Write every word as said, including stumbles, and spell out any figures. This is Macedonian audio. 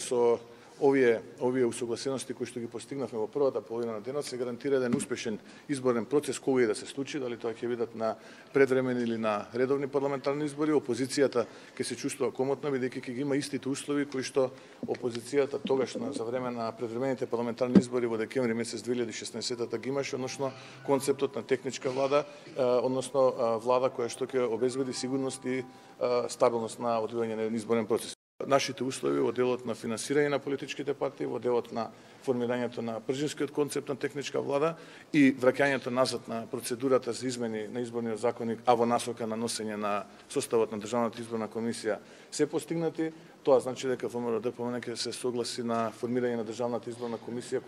со овие овие усогласености кои што ги постигнавме во првата половина на денот се гарантира еден успешен изборен процес кој и да се случи, дали тоа ќе бидат на предвремени или на редовни парламентарни избори. Опозицијата ќе се чувствува комотно бидејќи ќе ги има истите услови кои што опозицијата тогаш на за време на предвремените парламентарни избори во декември месец две илјади и шеснаесетта ги имаше, односно концептот на техничка влада, односно влада која што ќе обезбеди сигурност и стабилност на одвивање на изборен процес. Нашите услови во делот на финансирање на политичките партии, во делот на формирањето на пржинскиот концепт на техничка влада и враќањето назад на процедурата за измени на изборниот законник, а во насока на носење на составот на Државната изборна комисија се постигнати. Тоа значи дека ВМРО ДПМН ќе се согласи на формирање на Државната изборна комисија